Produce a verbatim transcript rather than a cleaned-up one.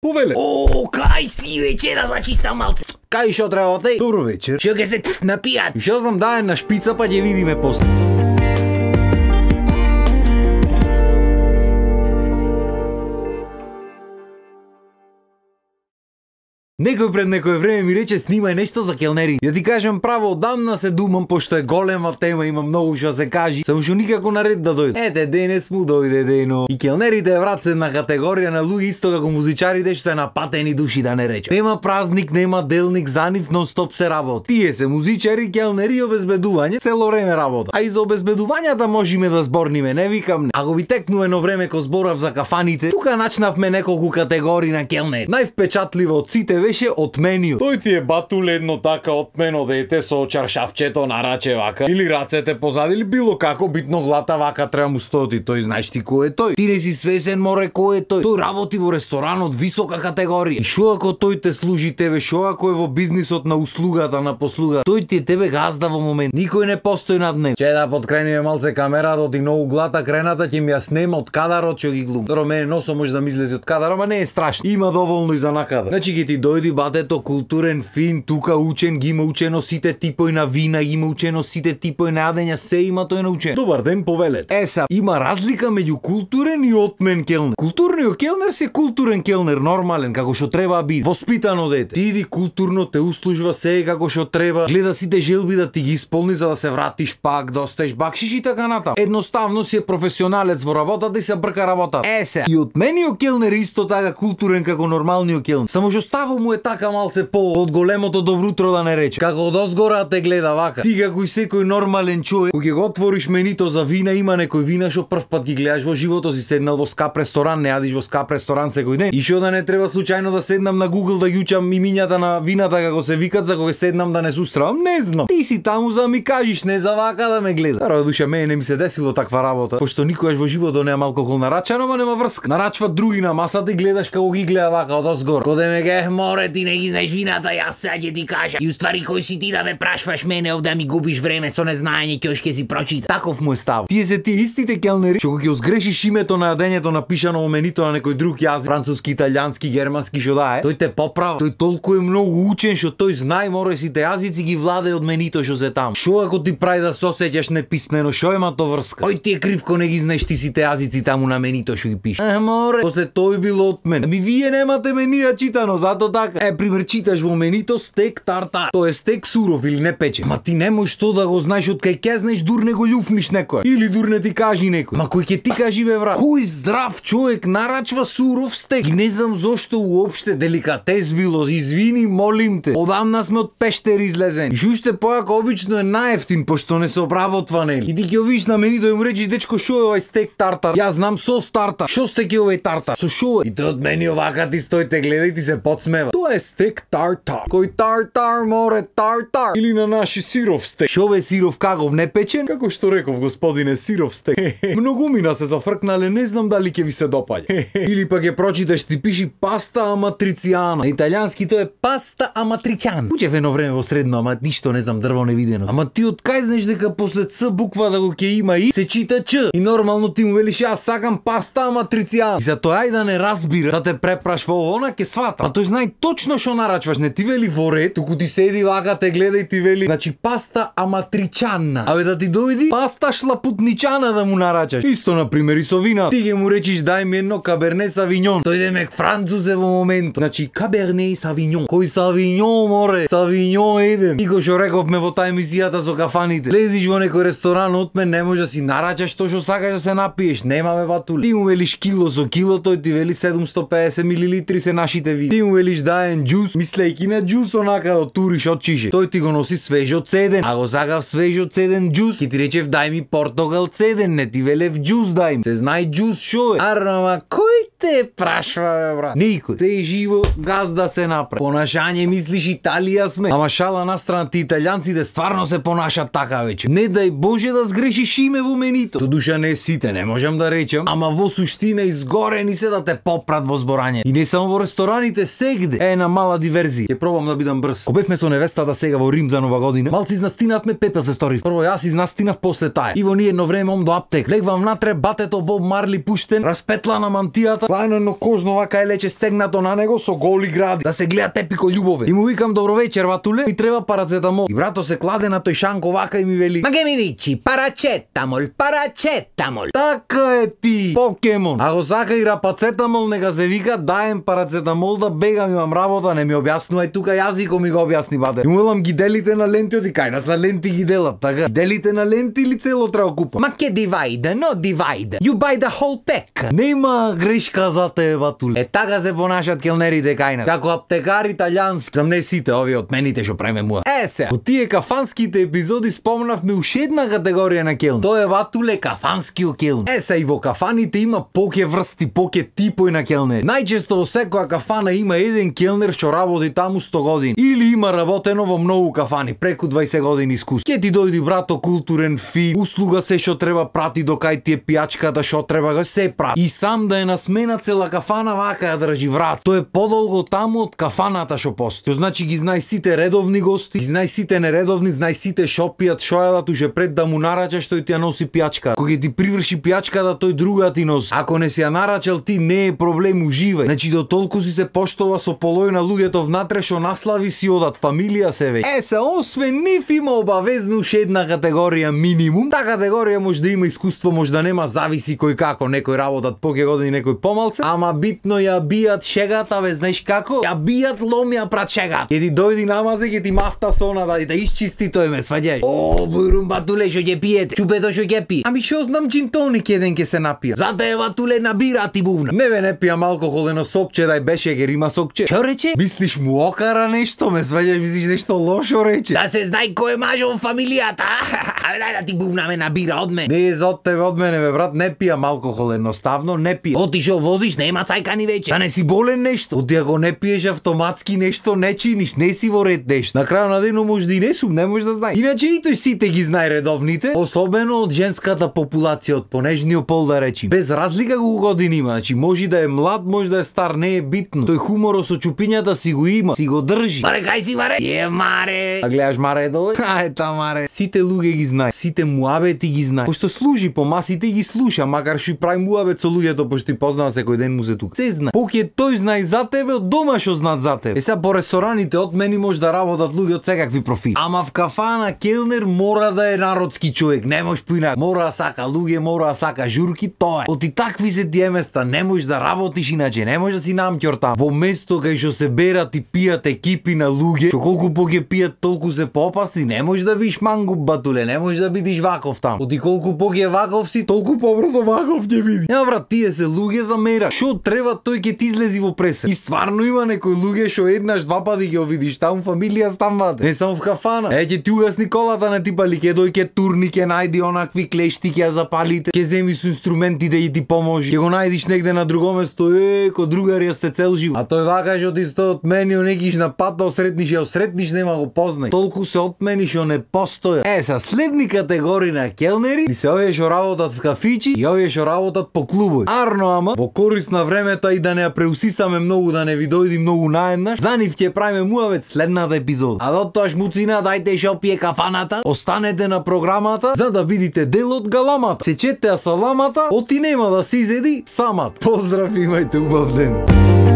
Повеле. О, кај си вече да зачистам малце. Кај шо треба те? Добро вечер. Што ќе се напијат? И шо знам да е на шпица па ќе видиме после. Некој пред некој време ми рече снимај нешто за келнери. Ја ти кажам право, одамна се думам, пошто е голема тема, има многу што се кажи, само што никако на ред да дојде. Ете, денес му дојде дено. И келнерите е врат се на категорија на луѓе исто како музичарите што се напатени души да не рече. Нема празник, нема делник, за нив нон-стоп се работи. Тие се музичари, келнери и обезбедување, цело време работа. А и за обезбедувањата можеме да зборниме, не викам не. Ако ви текну едно време ко зборав за кафаните, тука начнавме неколку категории на келнери. Највпечатливо од сите беше отмениот. Тој ти е батул едно така отмено дете со чаршавчето на раче вака или рацете позади или било како битно глата вака треба му стоти. Тој знаеш ти кој е тој? Ти не си свесен море кој е тој? Тој работи во ресторан од висока категорија. И шо ако тој те служи тебе, шо ако е во бизнисот на услугата, на послуга, тој ти е тебе газда во момент. Никој не постои над него. Че да подкрениме малце камерата од и многу глата крената ќе ми ја снема од кадарот што ги глум. Добро, мене носо може да ми излезе од кадар, ама не е страшно. Има доволно и за накадар. Значи ќе ти дојди батето културен, фин, тука учен, ги има учено сите типои на вина, ги има учено сите типои на јадења, се има тој научен. Добар ден, повелет. Е са, има разлика меѓу културен и отмен келнер. Културниот келнер се културен келнер, нормален, како што треба биде. Воспитано дете. Ти иди културно, те услужва се како што треба, гледа сите желби да ти ги исполни за да се вратиш пак, да остаеш бакшиш и така натаму. Едноставно си е професионалец во работата и се брка работата. Е се, и отмениот келнер исто така културен како нормалниот келнер. Само што ставо му е така малце по од големото добро утро да не рече. Како од озгора те гледа вака. Ти како и секој нормален човек, кога ќе го отвориш менито за вина, има некој вина што прв пат ги гледаш во животот си, седнал во скап ресторан, не јадиш во скап ресторан секој ден. И што да не треба случајно да седнам на Google да ги учам имињата на вината како се викат за кога седнам да не се устравам, не знам. Ти си таму за да ми кажеш, не за вака да ме гледа. Рао душа, мене не ми се десило таква работа, пошто никогаш во животот нема алкохол нарачано, ама нема врска. Нарачват други на масата и гледаш како ги гледа вака од озгора. Коде ме ге море, ти не ги знаеш вината, јас сега ќе ти кажа. И уствари кој си ти да ме прашваш мене овде да ми губиш време со незнаење ќе ќе си прочита. Таков му е став. Тие се тие истите келнери што ќе озгрешиш името на јадењето напишано во менито на некој друг јазик, француски, италијански, германски, што да е, тој те поправа. Тој толку е многу учен што тој знае море сите јазици ги владее од менито што се таму. Што ако ти прави да се осеќаш неписмено, што има то врска? Кој ти е крив ко не ги знаеш ти сите јазици таму на менито што ги пише? Е, море, после тој било од мен. Ми вие немате менија читано, зато така. Е, пример читаш во менито стек тартар. Тоа е стек суров или не печен. Ма ти не можеш тоа да го знаеш од кај ќе знаеш дур не го љуфниш некој. Или дур не ти кажи некој. Ма кој ќе ти кажи бе брат? Кој здрав човек нарачва суров стек? И не знам зошто уопште деликатес било. Извини, молим те. Одамна сме од пештери излезени. И шуште појако обично е наевтин пошто не се обработва нели. И ти ќе видиш на менито и му речиш дечко шо е овај стек тартар? Јас знам сос тартар. Шо стек е овај тартар? Со шо е? И тој од мене овака ти стои те гледа и ти се подсмева. Тоа е стек тартар. Кој тартар море тартар? Или на наши сиров стек. Шо бе сиров кагов не печен? Како што реков господине сиров стек. Многумина се зафркнале, не знам дали ќе ви се допаѓа. Или пак ќе прочиташ ти пиши паста аматрициана. На италијански тоа е паста аматричан. Учев едно време во средно, ама ништо не знам дрво невидено. Ама ти од кај знаеш дека после ц буква да го ќе има и се чита ч. И нормално ти му велиш јас сакам паста аматрициана. И за тоа ај да не разбира, да те препрашва она ќе свата. А тој знае точно што нарачваш, не ти вели во ред, туку ти седи вака те гледа и ти вели, значи паста аматричана. Абе да ти дојди паста шлапутничана да му нарачаш. Исто на пример и со вина. Ти ќе му речиш дај ми едно каберне савињон. Тој демек француз е во моментот. Значи каберне савињон. Кој савињон море? Савињон еден. И го што рековме во таа емисијата со кафаните. Лезиш во некој ресторан од мен, не може да си нарачаш тоа што сакаш да се напиеш. Нема бе батули. Ти му велиш кило со кило, тој ти вели седумсто и педесет милилитри се нашите вина. Ти му велиш даен џус, мислејќи на џус онака да туриш од чише. Тој ти го носи свежо цеден. А го сакав свежо цеден џус. Ки ти речев дај ми портогал цеден, не ти велев џус дај ми. Се знае џус шо е. Арама кој те прашва бе брат? Никој. Се живо газда се направи. Понашање мислиш Италија сме. Ама шала на страна ти италијанците стварно се понашат така веќе. Не дај Боже да сгрешиш име во менито. Додуша не сите, не можам да речам, ама во суштина изгорени се да те попрат во зборање. И не само во рестораните, сегде. Е, една мала диверзија. Ќе пробам да бидам брз. Ко бевме со невестата сега во Рим за нова година, малци изнастинавме, пепел се стори. Прво јас изнастинав после тај. И во ние едно време ом до аптек. Легвам внатре, батето Боб Марли пуштен, распетла на мантијата, клајно но кожно вака е лече стегнато на него со голи гради. Да се гледа тепико љубове. И му викам добро вечер, батуле, ми треба парацетамол. И брато се кладе на тој шанко вака и ми вели: Ma che mi dici? Paracetamol, paracetamol. Така е ти, покемон. Ако сака и рапацетамол, нека се вика, даем парацетамол да бегам, имам работа, не ми објаснувај тука јазико ми го објасни бате. И мулам ги делите на ленти, оди кај нас на ленти ги делат, така. Делите на ленти или цело треба купа? Ma che divide? No divide. You buy the whole pack. Нема грешка за тебе, батуле. Е така се понашат келнерите кај нас. Како аптекари италијански. Зам не сите овие отмените што преме муа. Е се. Од тие кафанските епизоди спомнавме уште една категорија на келн. Тоа е батуле кафанскиот келн. Е се и во кафаните има поке врсти, поке типои на келнери. Најчесто во секоја кафана има еден келнер што работи таму сто години. Или има работено во многу кафани, преку дваесет години искуство. Ке ти дојди брато културен фи, услуга се што треба прати до кај ти е пијачката што треба го се прави. И сам да е на смена цела кафана вака ја држи врат. Тоа е подолго таму од кафаната што постои. Тоа значи ги знај сите редовни гости, ги знај сите нередовни, знај сите што пијат, што јадат уже пред да му нарачаш тој ти ја носи пијачка. Кога ти приврши пијачката тој друга ти носи. Ако не си ја нарачал ти не е проблем, уживај. Значи до толку си се поштова со полој на луѓето внатре што наслави си одат фамилија се веќе. Е се, освен нив има обавезно уште една категорија минимум. Та категорија може да има искуство, може да нема, зависи кој како, некој работат поке години, некој помалце, ама битно ја бијат шегата, бе, знаеш како? Ја бијат ломија прат шегата. Ќе ти дојди намазе, ќе ти мафта сона да да исчисти тој, ме сваѓај. О, бујрум батуле што ќе пиете. Чупето што ќе пие. Ами што знам, джин тоник еден ќе се напија. Зате е батуле набира ти бувна. Не бе, не пијам алкохол, ено сокче, дај беше гер има сокче. Што рече? Мислиш му окара нешто, ме сваѓај, мислиш нешто лошо рече. Да се знај кој е мажо во фамилијата. Абе дај да ти бувна ме набира од мене. Не е за од тебе од мене, бе брат, не пијам алкохол, едноставно не пијам. Оти што возиш, нема цајкани веќе. Да не си болен нешто. Оти ако не пиеш автоматски нешто не чиниш, не си во ред нешто. На крајот на денот може да и не сум, не може да знај. Иначе и тој сите ги знае редовните, особено од женската популација, од понежниот пол да речи. Без разлика колку години има, значи може да е млад, може да е стар, не е битно. Тој хуморот со чупињата си го има, си го држи. Маре кај си маре? Е маре. А гледаш маре доле? Ај та маре. Сите луѓе ги знае, сите муабети ги знае. Пошто служи по масите ги слуша, макар што и прави муабет со луѓето, пошто и познава секој ден му се тука. Се знае. Поќе тој знае за тебе, од дома што знаат за тебе. Е сега по рестораните од мене може да работат луѓе од секакви профили. Ама в кафана келнер мора да е народски човек, не може поинак. Мора да сака луѓе, мора да сака журки, тоа е. Оти такви се тие места, не можеш да работиш иначе, не може да си намќор там. Во место кај што се берат и пијат екипи на луѓе, што колку поќе пијат, толку се поопасни, не можеш да бидеш мангуп батуле, не можеш да бидеш ваков там. Оти колку поќе ваков си, толку побрзо ваков ќе биде. Ја брат, тие се луѓе за мера. Што треба тој ќе ти излези во пресед. И стварно има некои луѓе што еднаш два пати ќе видиш таму фамилија станвате. Не само в кафана. Е ќе ти угасни колата на типали, ќе дојде турни, ќе најди онакви клешти, ќе ја запалите, ќе земи со инструменти да и ти поможи. Ќе го најдиш негде на друго место, е, ко другарија сте цел живот. А тој вака што ти сто отмени, некиш на пат да осретниш, ја осретниш, нема го познај. Толку се отмени што не постоја. Е, са следни категории на келнери, и се овие што работат в кафичи и овие што работат по клубови. Арно ама, во корист на времето и да не ја преусисаме многу, да не ви дојди многу наеднаш, за нив ќе правиме муавет следната епизода. А до тоа муцина, дајте што пие кафаната, останете на програмата за да видите дел од галамата. Сечете ја саламата, оти нема да се изеди самат. Поздрав, имајте убав ден.